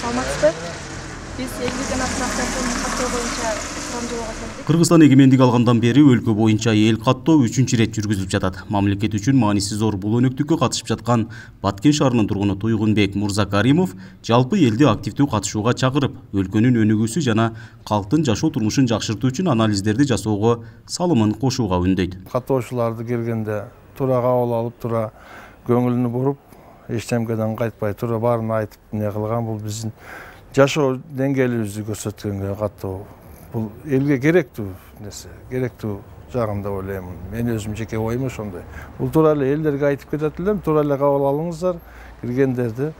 саламатсызбы? Биз элдик жана трактор каттоо боюнча сурамжылоого келдик. Кыргызстан эгемендик алгандан бери өлкө боюнча эл каттоо 3-чү ирет жүргүзүлүп жатат. Мамлекет үчүн мааниси зор бул өнөктүккө катышып жаткан Баткен шаарынын тургуну Туйгунбек Мурзакаримов жалпы элди активдүү катышууга чакырып, өлкөнүн өнүгүүсү жана калктын жашоо турмушун жакшыртуу үчүн анализдерди жасоого салымын кошууга үндөйт. Каттоочуларды келгенде туура кабыл алып, туура көңүлүнү буруп, эч немкеден кайтпай, туура баарын айтып не кылган бул биздин жашоо деңгээлибизди көрсөткөнгө каттоо. Бул элге керектүү нерсе, керектүү жагым деп ойлойм. Мен өзүм жеке оюм ошондой. Бул туура эле элдерге айтып кетет элем, туура эле кабыл алыңыздар, киргендерди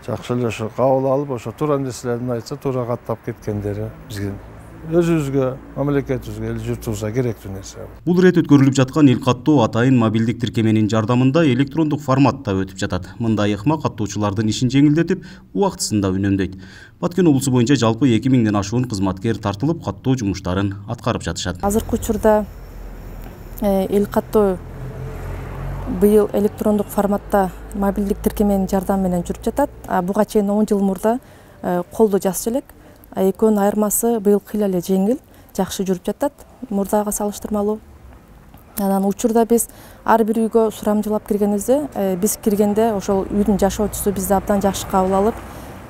жакшы эле ошо кабыл алып, ошо туура нерселерин айтса, туура каттап кеткендери бизге өзүбүзгө, мамлекетибизге, эл журтубузга керектүү нерсе. Бул ирет өткөрүлүп жаткан эл каттоо атайын мобилдик тиркеменин жардамында электрондук форматта өтүп жатат. Мындай ыкма каттоочулардын ишин жеңилдетип, убактысында үнөмдөйт. Баткен облусу боюнча жалпы 2000ден ашуун кызматкер тартылып, каттоо жумуштарын аткарып жатышат. Азыркы учурда эл каттоо быйыл электрондук форматта мобилдик тиркеменин жардамы менен жүрүп жатат. Буга чейин 10 жыл мурда колдо жазчу элек. Экөөнүн айырмасы быйыл кыйла эле жеңил, жакшы жүрүп жатат мурдага салыштырмалуу. Анан учурда биз ар бир үйгө сурамжылап киргенибизде, биз киргенде ошол үйдүн жашоочусу бизди абдан жакшы кабыл алып,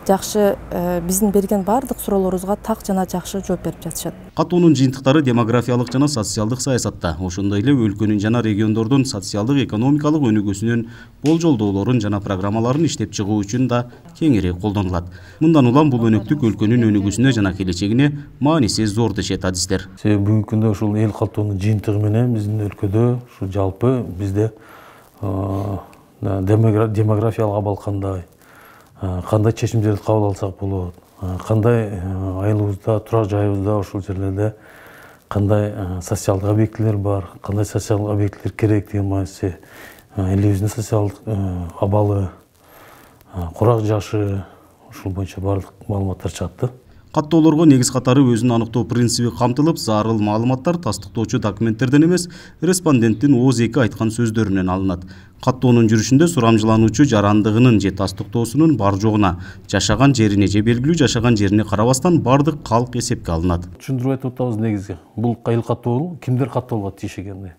жакшы биздин берген баардык суроолорубузга так жана жакшы жооп берип жатышат. Каттоонун жыйынтыктары демографиялык жана социалдык саясатта, ошондой эле өлкөнүн жана региондордун социалдык экономикалык өнүгүүсүнүн болжолдоолорун жана программаларын иштеп чыгуу үчүн да кеңири колдонулат. Мындан улам бул өнөктүк өлкөнүн өнүгүүсүнө жана келечегине мааниси зор дешет адистер. Себеби бүгүнкү күндө ушул эл каттоонун жыйынтыгы менен биздин өлкөдө ушу жалпы бизде демографиялык абал кандай чечимдерди кабыл алсак болот, кандай айылыбызда, турак жайыбызда, ошол жерлерде кандай социалдык объектилер бар, кандай социалдык объектилер керек деген мааниси, элибиздин социалдык абалы, курак жашы, ушул боюнча баардык маалыматтар чыкты. Каттоолорго негиз катары өзүн аныктоо принциби камтылып, зарыл маалыматтар тастыктоочу документтерден эмес, респонденттин ооз эки айткан сөздөрүнөн алынат. Каттоонун жүрүшүндө сурамжылануучу жарандыгынын же тастыктоосунун бар жогуна, жашаган жерине же белгилүү жашаган жерине карабастан бардык калк эсепке алынат. Түшүндүрүп айтып атабыз негизги. Бул эл каттоо кимдер каттоого тийиш экени.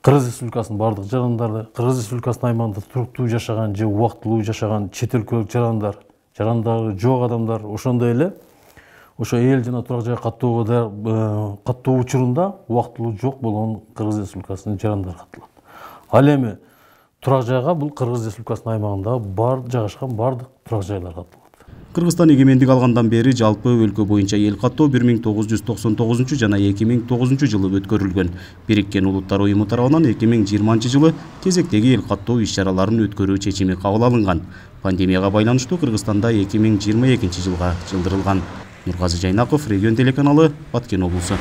Кыргыз Республикасынын бардык жарандары, Кыргыз Республикасынын аймагында туруктуу жашаган же убактылуу жашаган чет өлкөлүк жарандар, жарандары жок адамдар, ошондой эле ошо эл жана турак жай каттоо учурунда убактылуу жок болгон Кыргыз Республикасынын жарандары катталат. Ал эми турак жайга бул Кыргыз Республикасынын аймагында жайгашкан бардык турак жайлар катталат. Кыргызстан эгемендик алгандан бери жалпы өлкө боюнча эл каттоо 1999 жана 2009 жылы өткөрүлгөн. Бириккен Улуттар уюму тарабынан 2020 жылы кезектеги эл каттоо иш-чараларын өткөрүү чечими кабыл алынган. Пандемияга байланыштуу Кыргызстанда 2022 жылга жылдырылган. Нургазы Жайнаков, Регион телеканалы, Баткен облусу.